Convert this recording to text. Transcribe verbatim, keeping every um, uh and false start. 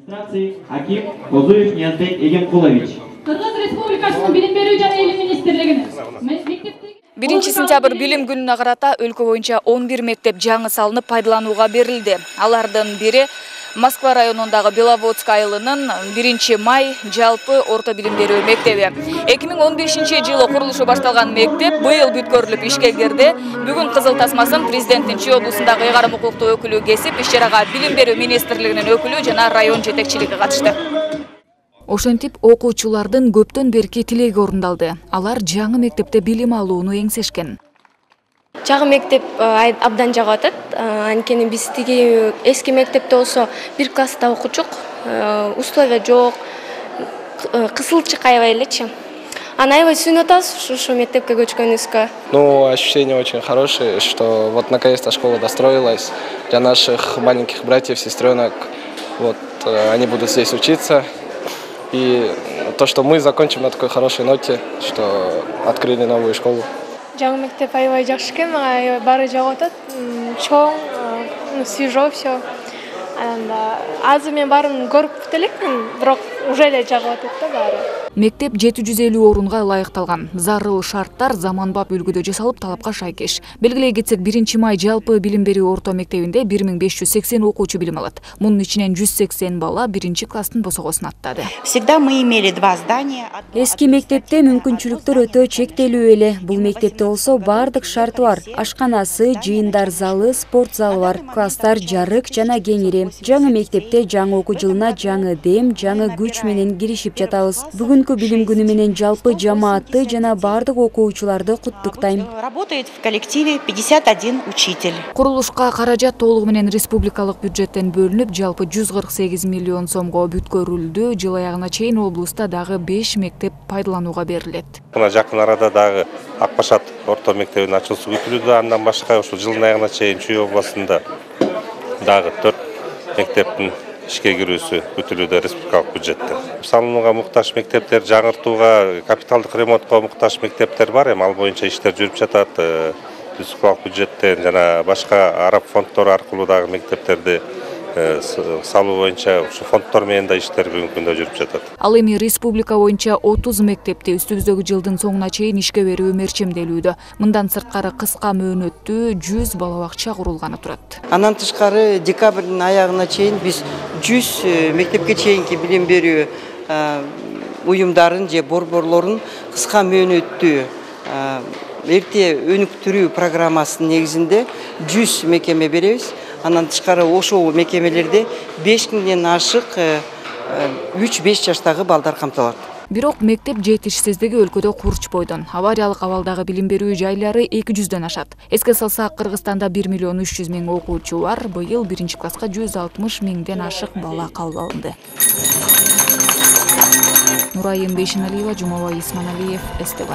Аким Козуев Ниязбек Эгемкулович. Кыргыз Республикасынын билим берүү жана илим министрлигинин биринчи сентябрь билим күнүнө карата өлкө боюнча он бир мектеп жаңы салынып пайдаланууга берилди. Алардын бири Москва районундагы Беловодск айылынын биринчи май жалпы орто билим берүү мектеби. эки миң он бешинчи жылы курулушу башталган мектеп быйыл бүткөрүлүп ишке кирди. Бүгүн кызыл тасмасын президенттин Чүй облусундагы ыйгарым укуктуу өкүлү кесип, иш-чарага билим берүү министрлигинин өкүлү жана район жетекчилиги катышты. Ошентип окуучулардын көптөн берки тилеги орундалды. Алар жаңы мектепте билим алууну эңсешкен. Жаңы мектеп абдан жагып атат. Анткени биз тиги эски мектепте болсо бир класста окучук, условия жок, кысылчык аябай элечи. Аны аябай сүйүнүп атабыз ушу мектепке көчкөнүбүзгө. Ну, ощущения очень хорошие, что вот наконец-то школа достроилась для наших маленьких братьев, сестренок. Вот они будут здесь учиться. И то, что мы закончим на такой хорошей ноте, что открыли новую школу. Жаңы мектеп аябай жакшы экен, мага баары жагып атат. Чоң, свежо все. Азыр мен баарын көрүп элекмин, бирок уже эле жагып атат да баары. Мектеп жети жүз элүү орунга ылайыкталган. Зарыл шарттар заманбап үлгүдө жасалып, талапка шайкеш. Белгилей кетсек, биринчи май жалпы билим берүү орто мектебинде бир миң беш жүз сексен окуучу билим алат. Мунун ичинен жүз сексен бала биринчи класстын босогосун аттады. Всегда мы имели два здания. Эски мектепте мүмкүнчүлүктөр өтө чектелүү эле. Бул мектепте болсо бардык шарты бар. Ашканасы, жыйындар залы, спорт залы бар. Класстар жарык жана кеңири. Жаңы мектепте жаңы окуу жылына жаңы дем, жаңы күч менен киришип жатабыз. Бүгүнкү билим күнү менен жалпы жамаатты жана бардык окуучуларды куттуктайм. Работает в коллективе пятьдесят один учитель. Курулушка каражат толугу менен республикалык бюджеттен бөлүнүп, жалпы жүз кырк сегиз миллион сомго бүткөрүлдү. Жыл аягына чейин облуста дагы беш мектеп пайдаланууга берилет. Мына жакын арада дагы Акбашат орто мектебинин ачылышы күтүлүүдө. Андан башка ушул жылдын аягына чейин Чүй областында дагы төрт мектептин ишке кирүүсү күтүлүүдө республикалык бюджеттен. Салынууга муктаж мектептер, жаңыртууга, капиталдык ремонтко муктаж мектептер бар. Эми ал боюнча иштер жүрүп жатат. Республикалык бюджеттен жана башка араб фонддору аркылуу дагы мектептерди салуу боюнча ушу фонддор менен да иштер бүгүнкү күндө жүрүп жатат. Ал эми республика боюнча отуз мектепти үстүбүздөгү жылдын соңуна чейин ишке берүү мерчемделүүдө. Мындан сырткары кыска мөөнөттүү жүз бала бакча курулганы турат. Андан тышкары декабрдын аягына чейин биз жүз мектепке чейинки билим берүү уюмдарын же борборлорун кыска мөөнөттүү эрте өнүктүрүү программасынын негизинде жүз мекеме беребиз. Андан тышкары ошол мекемелерде беш миңден ашык үч беш жаштагы балдар камтылат. Бирок мектеп жетишсиздиги өлкөдө курч бойдон. Авариялык абалдагы билим берүү жайлары эки жүздөн ашат. Эске салсак, Кыргызстанда бир миллион үч жүз миң окуучу бар. Быйыл биринчи класска жүз алтымыш миңден ашык бала кабыл алынды. Нурайым Бейшеналиева, Жумабай Исманалиев, СТВ.